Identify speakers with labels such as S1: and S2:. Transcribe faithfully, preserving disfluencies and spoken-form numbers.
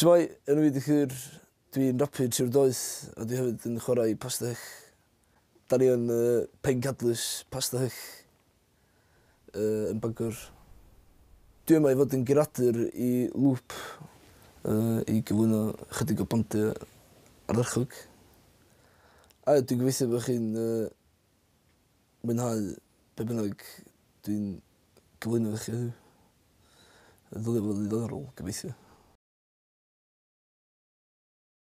S1: Shwmae, enw fi 'di Llŷr, dwi'n rapio Trio'r Doeth a dwi hefyd yn chwarae i Pasta Hyll. Da ni yn uh, pencadlys Pasta Hyll uh, yn Bangor. Dwi yma i fod yn guradur i Lŵp uh, i gyflwyno chydig o bandiau ardderchog. A dwi'n gobeithio bod chi'n uh, mwynhau be bynnag dwi'n gyflwyno i chi heddiw. Ddylia fod yn ddiddorol, gobeithio.